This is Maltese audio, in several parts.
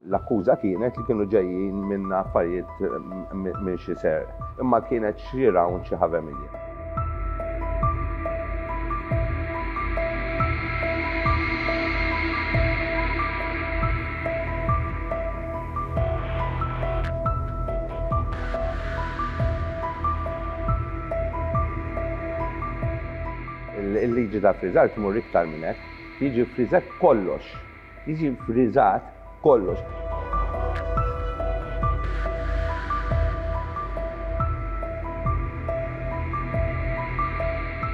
L-akkuża kienet li kienu ġejjin minn affarijiet minn xi serq, imma kienet xi round xi half a million. Il-liġi ta' friżar tmur iktar minn hekk, jiġi ffriżat kollox. Jiġi ffriżat kollox.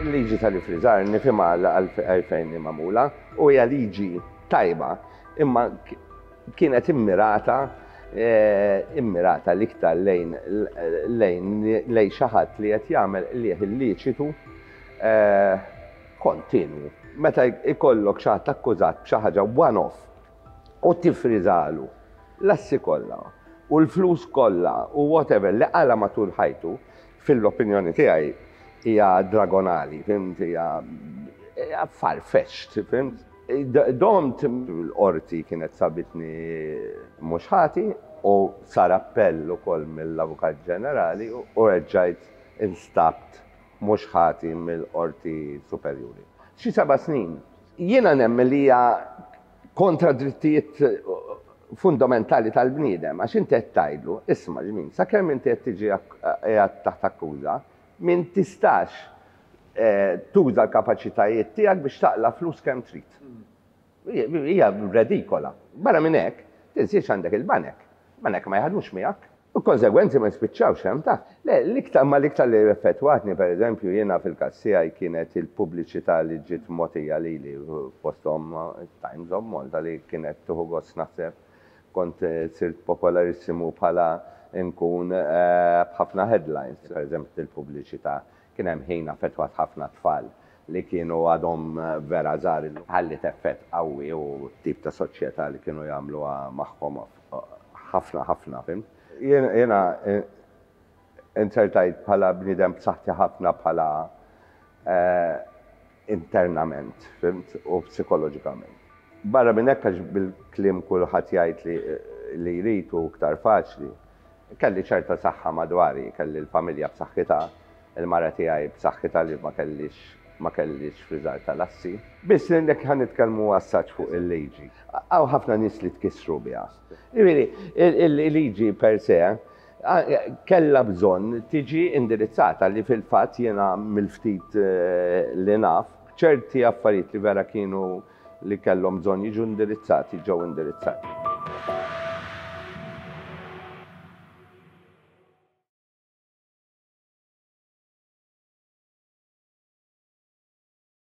Il-liġi tal-iffriżar nifhimha għalfejn hi magħmula u hija liġi tajba imma kienet immirata immirata l-iktar lejn lejn lejn xi ħadd li qed jagħmel qligħ illiċitu kontinwu. Meta jkollok xi ħadd akkużat b'xi ħaġa one off u tiffriżalu l-assi kollha u l-flus kollha u whatever li qala' matul ħajtu, fil-opinjoni tiegħi hija dragonali, fhimt, hija far-fetched, fhimt. Domt l-qorti kienet sabitni mhux ħati u sar appell ukoll mill-Avukat Ġenerali u erġajt instabt mhux ħati mill-Qorti Superjuri. Xi seba' snin. Jiena nemmen li hija kontra drittijiet fundamentali tal-bniedem għax inti qed tgħidlu, isma' ġmin, sakemm inti qed tiġi qiegħed taħt akkuża, min tistax tuża l-kapaċitajiet tiegħek biex taqla' flus kemm trid. Hija redikola. Barra minn hekk, tinsiex għandek il-banek. Banek ma jaħdmux miegħek. U l-konsegwenzi ma jispiċċawx hemm ta. Le, l-iktar ma l-iktar li effettwatni pereżempju jiena fil-każ tiegħi kienet il-pubbliċità li ġiet mogħtija lili fosthom Times of Malta li kienet tieħu gost naħseb kont sirt popolarissimu bħala nkun b'ħafna headlines. Pereżempju il-pubbliċità kien hemm ħin affettwat ħafna tfal li kienu għadhom vera żgħar. Ħalliet effett qawwi u t-tip ta' soċjetà li kienu jagħmluha magħhom ħafna ħafna, fhimt? Jiena inzertajt bħala bniedem b'saħħti ħafna bħala internament, fhimt, u psikoloġikament. Barra minn hekk għax bil-kliem kulħadd jgħid li jrid u iktar faċli, kelli ċerta saħħa madwari, kelli l-familja b'saħħitha, il-mara tiegħi b'saħħitha li ma kellix ma kellix friżar tal-assi. Biss jekk ħa nitkellmu assaġġ fuq il-liġi, hawn ħafna nies li tkissru biha. Jiġifieri, il-liġi per se kellha bżonn tiġi indirizzata li fil-fatt jiena mill-ftit li naf, ċerti affarijiet li vera kienu li kellhom bżonn jiġu indirizzati ġew indirizzati.